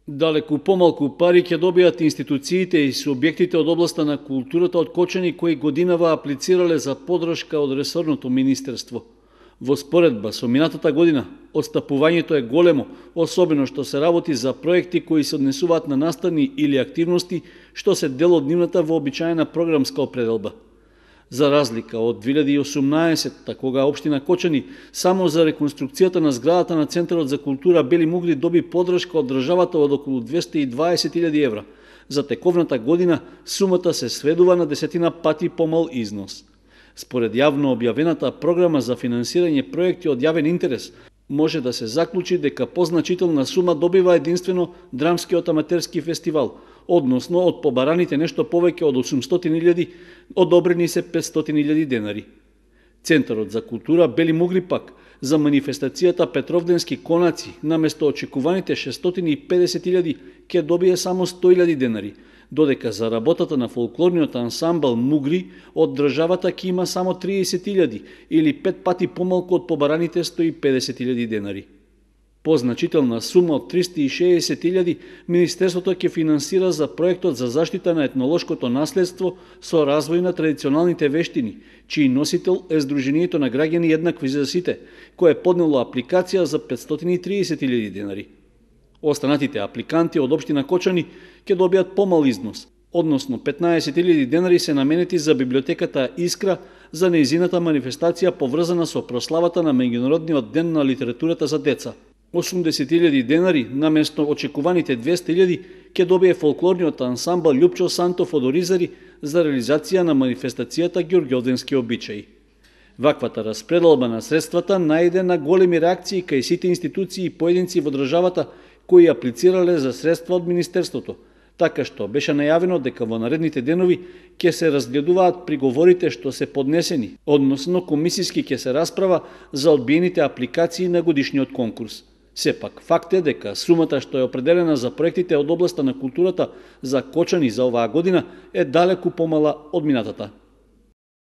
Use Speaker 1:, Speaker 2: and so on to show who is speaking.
Speaker 1: Далеку помалку пари ќе добијат институциите и субјектите од областа на културата од Кочани кои годинава аплицирале за подршка од ресорното министерство. Во споредба со минатата година, отстапувањето е големо, особено што се работи за проекти кои се однесуваат на настани или активности што се дел од нивната вообичаена програмска определба. За разлика од 2018, кога општина Кочани само за реконструкцијата на зградата на Центарот за култура Бели Мугли доби подршка од државата од околу 220.000 евра, за тековната година сумата се сведува на 10 пати помал износ. Според јавно објавената програма за финансирање проекти од јавен интерес, може да се заклучи дека позначителна сума добива единствено Драмскиот аматерски фестивал, односно од побараните нешто повеќе од 800.000, одобрени се 500.000 денари. Центарот за култура Бели Мугли пак за манифестацијата Петровденски конаци наместо очекуваните 650.000 ќе добие само 100.000 денари, додека за работата на фолклорниот ансамбл Мугри од државата ќе има само 30.000 или 5 пати помалку од побараните 150.000 денари. Позначителна сума од 360.000 Министерството ќе финансира за проектот за заштита на етнолошкото наследство со развој на традиционалните вештини, чиј носител е Сдруженијето на граѓани еднакви за сите, кое поднело апликација за 530.000 денари. Останатите апликанти од општина Кочани ќе добијат помал износ, односно 15.000 денари се наменети за библиотеката Искра за нејзината манифестација поврзана со прославата на Меѓународниот ден на литературата за деца. 80.000 денари наместо очекуваните 200.000 ќе добие фолклорниот ансамбл Љупчо Сантов од Оризари за реализација на манифестацијата Ѓурѓовденски обичаи. Ваквата распределба на средствата најде на големи реакции кај сите институции и поединци во државата кои аплицирале за средства од Министерството, така што беше најавено дека во наредните денови ќе се разгледуваат приговорите што се поднесени, односно комисиски ќе се расправа за одбиените апликации на годишниот конкурс. Сепак, факт е дека сумата што е определена за проектите од областа на културата за Кочани за оваа година е далеку помала од минатата.